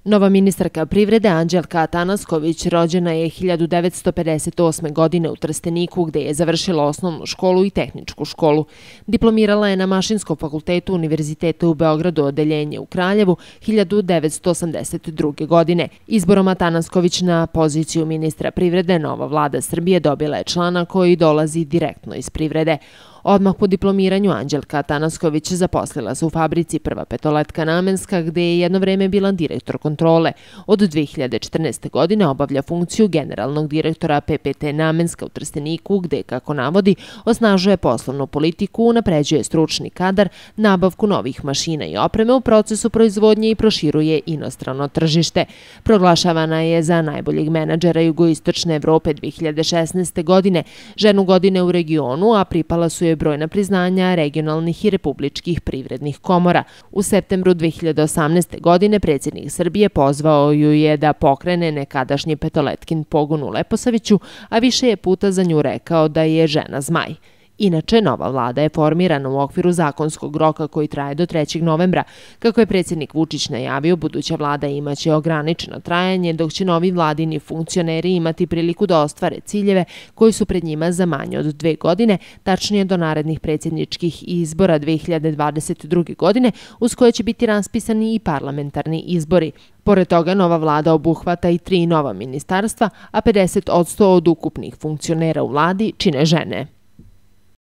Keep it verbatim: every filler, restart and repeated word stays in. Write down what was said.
Nova ministarka privrede Anđelka Atanasković rođena je hiljadu devetsto pedeset osme. godine u Trsteniku, gde je završila osnovnu školu i tehničku školu. Diplomirala je na Mašinskom fakultetu Univerziteta u Beogradu, odeljenje u Kraljevu, hiljadu devetsto osamdeset druge. godine. Izborom Atanasković na poziciju ministra privrede, nova vlada Srbije dobila je člana koji dolazi direktno iz privrede. Odmah po diplomiranju Anđelka Atanasković zaposlila se u fabrici Prva petoletka namenska, gde je jedno vreme bila direktor kontrole. Od dve hiljade četrnaeste. godine obavlja funkciju generalnog direktora P P T Namenska u Trsteniku, gde, kako navodi, osnažuje poslovnu politiku, unapređuje stručni kadar, nabavku novih mašina i opreme u procesu proizvodnje i proširuje inostrano tržište. Proglašavana je za najboljeg menadžera jugoistočne Evrope dve hiljade šesnaeste. godine, ženu godine u regionu, a pripala su je brojna priznanja regionalnih i republičkih privrednih komora. U septembru dve hiljade osamnaeste. godine predsjednik Srbije pozvao ju je da pokrene nekadašnji petoletkin pogon u Leposaviću, a više je puta za nju rekao da je žena zmaj. Inače, nova vlada je formirana u okviru zakonskog roka koji traje do trećeg novembra. Kako je predsjednik Vučić najavio, buduća vlada imaće ograničeno trajanje, dok će novi vladini funkcioneri imati priliku da ostvare ciljeve koji su pred njima za manje od dve godine, tačnije do narednih predsjedničkih izbora dve hiljade dvadeset druge. godine, uz koje će biti raspisani i parlamentarni izbori. Pored toga, nova vlada obuhvata i tri nova ministarstva, a pedeset posto od ukupnih funkcionera u vladi čine žene.